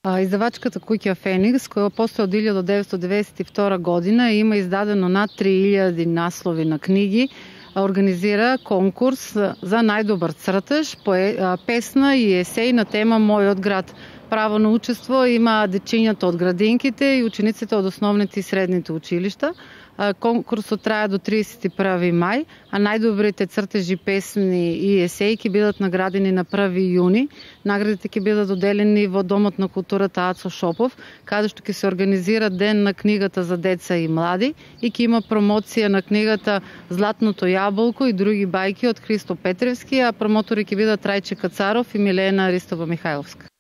Издавачката куќа Феникс, која постои од 1992 година и има издадено над 3000 наслови на книги, организира конкурс за најдобар цртеж, песна и есеј на тема Мојот град. Право на учество има дечињата од градинките и учениците од основните и средните училишта. Конкурсот трае до 31 мај, а најдобрите цртежи, песни и есеи ќе бидат наградени на 1 јуни. Наградите ќе бидат доделени во Домот на културата Ацо Шопов, каде што ќе се организира Ден на книгата за деца и млади и ќе има промоција на книгата Златното јаболко и други бајки од Христо Петревски, а промотори ќе бидат Трајче Кацаров и Милена Ристова Михајловска.